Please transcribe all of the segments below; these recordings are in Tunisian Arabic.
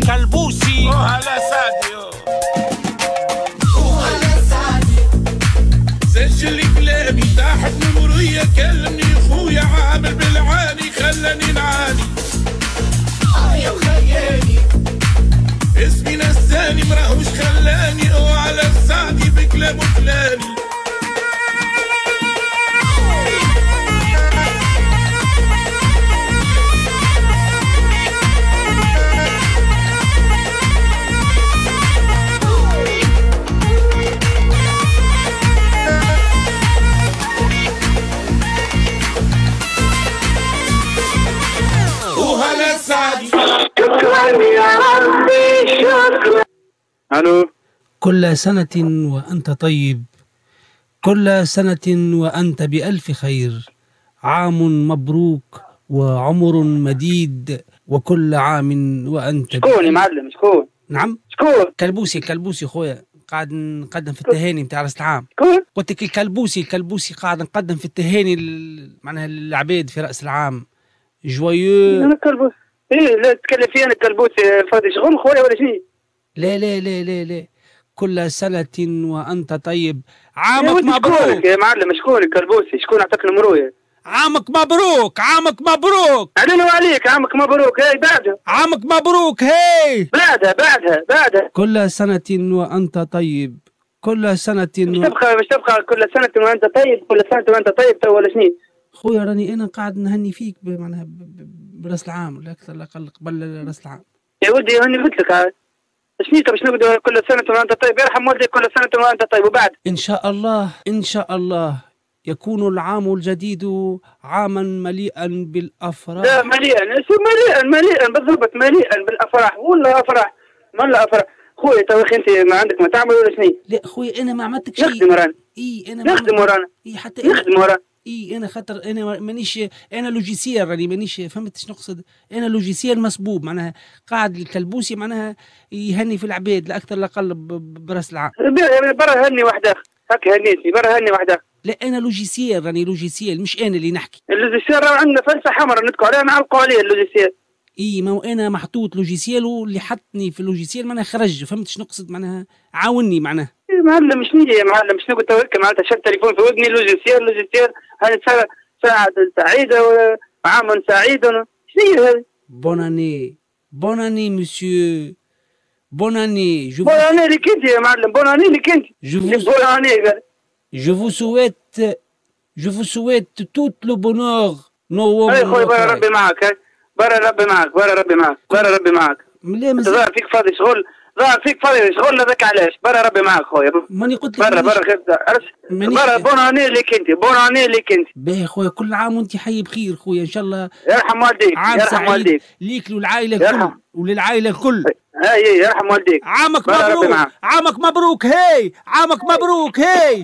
الكلبوسي. وهلا سعدي وهلا سعدي. سجل كلامي تحت نمرية، كلمني خويا عامل بالعاني خلاني نعاني. يا وخيالي اسمي نساني مراهوش خلاني، وعلى سعدي بكلامه فلاني. وهلا سعدي. شكرا يا ربي شكرا. الو. كل سنة وأنت طيب، كل سنة وأنت بألف خير، عام مبروك وعمر مديد، وكل عام وأنت. شكون يا معلم؟ شكون؟ نعم شكون؟ كلبوسي. كلبوسي خويا، قاعد نقدم في التهاني نتاع راس العام. شكون؟ قلت لك الكلبوسي. الكلبوسي قاعد نقدم في التهاني معناها للعباد في راس العام. joyeux. انا كلبوسي؟ ايه لا تتكلم فيه انا كلبوسي فاضي شغل خويا ولا شنو؟ لا لا لا لا لا، كل سنة وأنت طيب، عامك مبروك يا معلم. شكون الكلبوسي؟ شكون عطاك نمرويا؟ عامك مبروك، عامك مبروك. علينا وعليك، عامك مبروك. هاي بعدها عامك مبروك. هاي بعدها بعدها بعدها. كل سنة وأنت طيب، كل سنة مش تبقى، مش تبقى كل سنة وأنت طيب، كل سنة وأنت طيب تو ولا شنو؟ خويا راني أنا قاعد نهني فيك معناها براس العام، ولا أكثر لا أقل قبل راس العام. يا ولدي هاني قلت لك شنو باش نقعدوا كل سنة وأنت طيب؟ يرحم والديك، كل سنة وأنت طيب. وبعد إن شاء الله، إن شاء الله يكون العام الجديد عاما مليئا بالأفراح. لا مليئا، مليئا مليئا بالضبط، مليئا بالأفراح. ولا أفراح، ولا أفراح خويا. تو أخي أنت ما عندك ما تعمل ولا شنو؟ لا خويا أنا ما عملتك شيء. نخدم ورانا. إي أنا نخدم ورانا. إي حتى نخدم ورانا. اي انا خاطر انا مانيش، انا logiciel راني مانيش، فهمت شنو نقصد؟ انا logiciel مسبوب، معناها قاعد الكلبوسي معناها يهني في العباد لا اكثر لا اقل براس العام. برا هني وحدك، هكا هنيتني، برا هني وحدك. لا انا logiciel راني logiciel، مش انا اللي نحكي. ال logiciel راه عندنا فلسه حمراء نتكو عليها، نعلقوا عليه ال logiciel. اي ما هو انا محطوط logiciel، واللي حطني في ال logiciel معناها خرج، فهمت شنو نقصد؟ معناها عاوني معناها. يا معلم شنو يا معلم؟ شنو قلت لك معناتها؟ شد تليفون في ودني logiciel logiciel، هذه ساعة سعيدة وعام سعيد، شنو هذه؟ bonne année، bonne année monsieur، bonne année. je bonne année لك انت يا معلم، bonne année لك انت. bonne année. je vous souhaite، je vous souhaite tout le bonheur. نو اي خويا برا ربي معاك، برا ربي معاك، برا ربي معاك، برا ربي معاك. ظهر فيك فاضي شغل، ظهر فيك فاضي شغل، هذاك علاش. برا ربي معاك خويا. ماني قلت لك برا برا برا. bonne année لك انت، bonne année لك انت. باهي خويا، كل عام وانت حي بخير خويا ان شاء الله. يرحم والديك، عام يرحم والديك ليك وللعائله الكل، وللعائله الكل. اي يرحم والديك. عامك مبروك، عامك مبروك. هاي عامك مبروك. هاي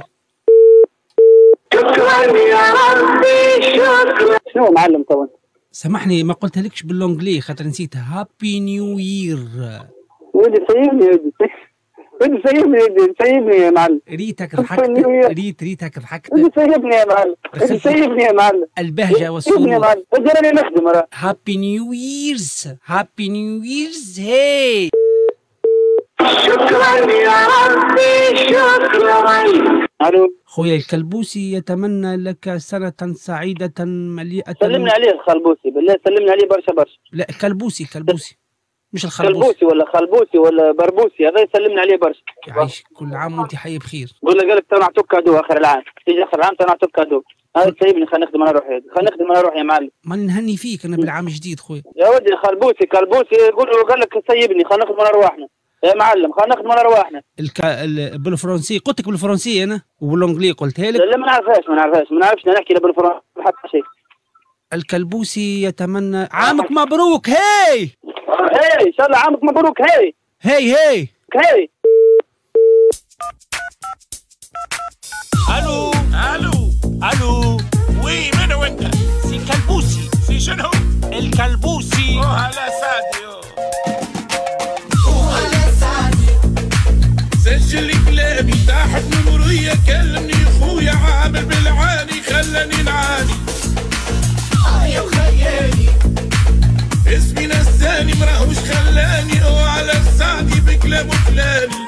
شكرا يا ربي شكرا. شنو معلم تو؟ سامحني ما قلتها لكش بال anglais خاطر نسيتها. happy new year. ولدي سيبني، ولدي ولدي سيبني، ولدي سيبني يا معلم. ريتك ضحكت، ريتك ضحكت. ولدي سيبني يا معلم، ولدي سيبني يا معلم. البهجة والسرور. سيبني يا معلم، ولدي راني نخدم راه. happy new years، happy new years. هاي شكرا يا ربي شكرا. الو خويا الكلبوسي يتمنى لك سنة سعيدة مليئة. سلمنا عليه الخلبوسي بالله، سلمنا عليه برشا برشا. لا كلبوسي، كلبوسي مش الخلبوسي. كلبوسي ولا خلبوسي ولا بربوسي، هذا يسلمنا عليه برشا. يعيش، كل عام وانت حي بخير. قول له قال لك تو نعطوك cadeau اخر العام، تيجي اخر العام تو نعطوك cadeau. هذا سيبني خلينا نخدم انا روحي، خلينا نخدم انا روحي يا معلم. ماني نهني فيك انا بالعام الجديد خويا. يا ولدي خلبوسي كلبوسي قول له قال لك سيبني خلينا نخدم على رواحنا يا معلم، خلينا نخدم على رواحنا. بالفرنسي قلت لك، بالفرنسي انا وبال anglais قلتها لك. لا ما نعرفهاش، ما نعرفهاش، ما نعرفش نحكي لا بالفرنسي حتى شيء. الكلبوسي يتمنى عامك مبروك. هاي هاي ان شاء الله عامك مبروك. هاي هاي هاي هاي. الو الو الو. oui من هو انت؟ سي كلبوسي. سي شنو؟ الكلبوسي. وهلا سعدي، وهلا سعدي. سجل كلامي تحت نمرية، كلمني خويا عامل بالعاني خلاني نعاني. يا وخيالي اسمي نساني مراهوش خلاني. كلامه كلاني.